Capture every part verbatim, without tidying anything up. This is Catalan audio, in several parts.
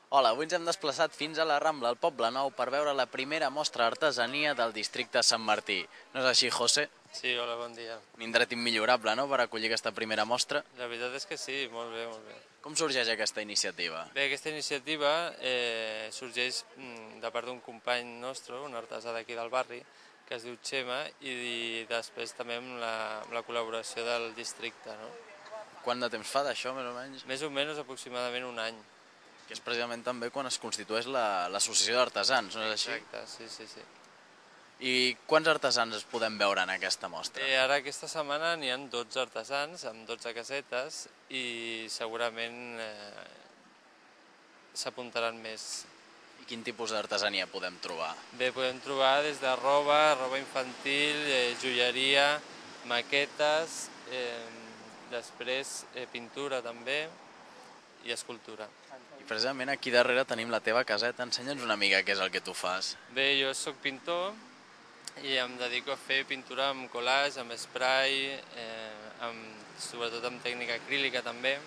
Hola, avui ens hem desplaçat fins a la Rambla, al Poble Nou, per veure la primera mostra d'artesania del districte de Sant Martí. No és així, José? Sí, hola, bon dia. Un indret immillorable, no?, per acollir aquesta primera mostra. La veritat és que sí, molt bé, molt bé. Com sorgeix aquesta iniciativa? Bé, aquesta iniciativa eh, sorgeix mm, de part d'un company nostre, un artesà d'aquí del barri, que es diu Xema, i, i després també amb la, amb la col·laboració del districte, no? Quant de temps fa d'això, més o menys? Més o menys aproximadament un any. Que és precisament també quan es constitueix l'associació d'artesans, no és així? Exacte, sí, sí, sí. I quants artesans es podem veure en aquesta mostra? Eh, ara aquesta setmana n'hi ha dotze artesans amb dotze casetes i segurament eh, s'apuntaran més. I quin tipus d'artesania podem trobar? Bé, podem trobar des de roba, roba infantil, eh, joieria, maquetes, eh, després eh, pintura també i escultura. I precisament aquí darrere tenim la teva caseta. Ensenya'ns una mica què és el que tu fas. Bé, jo sóc pintor i em dedico a fer pintura amb collage, amb spray, eh, amb, sobretot amb tècnica acrílica també.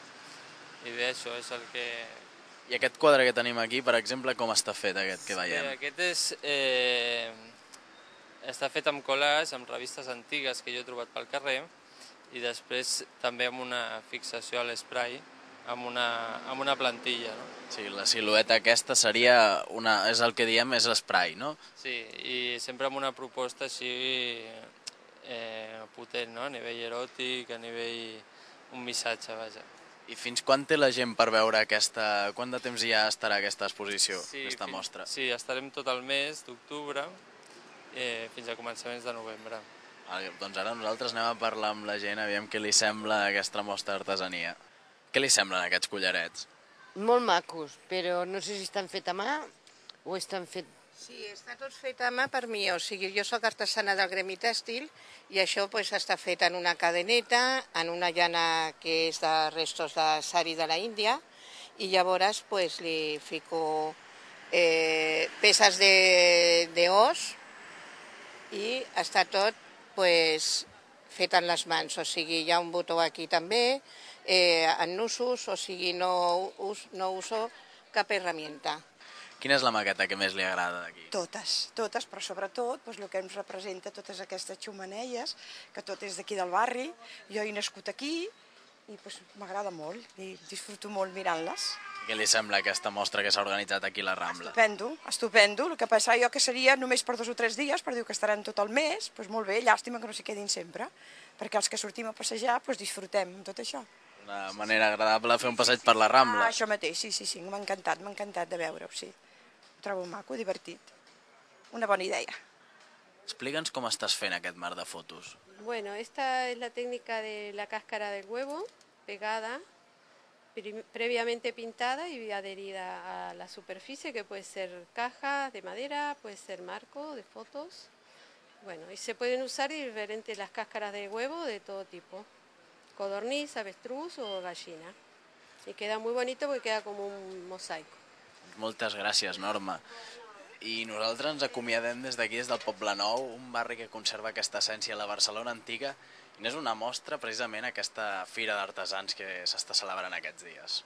I bé, això és el que... I aquest quadre que tenim aquí, per exemple, com està fet aquest que veiem? Sí, aquest és... Eh, està fet amb collage, amb revistes antigues que jo he trobat pel carrer i després també amb una fixació a l'esprai, amb una, amb una plantilla, no? Sí, la silueta aquesta seria una... és el que diem, és l'esprai, no? Sí, i sempre amb una proposta així eh, potent, no? A nivell eròtic, a nivell... un missatge, vaja. I fins quan té la gent per veure aquesta... Quant de temps ja estarà aquesta exposició, Sí, aquesta fins, mostra? Sí, estarem tot el mes d'octubre eh, fins a començaments de novembre. Vale, doncs ara nosaltres anem a parlar amb la gent, aviam què li sembla aquesta mostra d'artesania. Què li semblen aquests collarets? Molt macos, però no sé si estan fet a mà o estan fet... Sí, està tot fet a mà per mi, o sigui, jo sóc artesana del gremi tèxtil i això pues, està fet en una cadeneta, en una llana que és de restos de sari de la Índia i llavors pues, li fico eh, peces d'os i està tot pues, fet en les mans, o sigui, hi ha un botó aquí també, eh, en nusos, o sigui, no, us, no uso cap herramienta. Quina és la maqueta que més li agrada d'aquí? Totes, totes, però sobretot doncs, el que ens representa totes aquestes xumaneies, que tot és d'aquí del barri, jo he nascut aquí i doncs, m'agrada molt i disfruto molt mirant-les. Què li sembla aquesta mostra que s'ha organitzat aquí a la Rambla? Estupendo, estupendo, el que passa jo que seria només per dos o tres dies, per dir que estaran tot el mes, doncs molt bé, llàstima que no s'hi quedin sempre, perquè els que sortim a passejar doncs, disfrutem amb tot això. Una manera agradable de fer un passeig per la Rambla. Ah, això mateix, sí, sí, sí, m'ha encantat, m'ha encantat de veure-ho, sí. Ho trobo maco, divertit. Una bona idea. Explica'ns com estàs fent aquest mar de fotos. Bueno, esta es la técnica de la cáscara del huevo pegada, previamente pintada y adherida a la superficie, que puede ser caja de madera, puede ser marco de fotos. Bueno, y se pueden usar diferentes las cáscaras de huevo de todo tipo, codorniz, avestruz o gallina. Y queda muy bonito porque queda como un mosaico. Moltes gràcies, Norma. I nosaltres ens acomiadem des d'aquí, des del Poble Nou, un barri que conserva aquesta essència a la Barcelona antiga, i n'és una mostra precisament aquesta fira d'artesans que s'està celebrant aquests dies.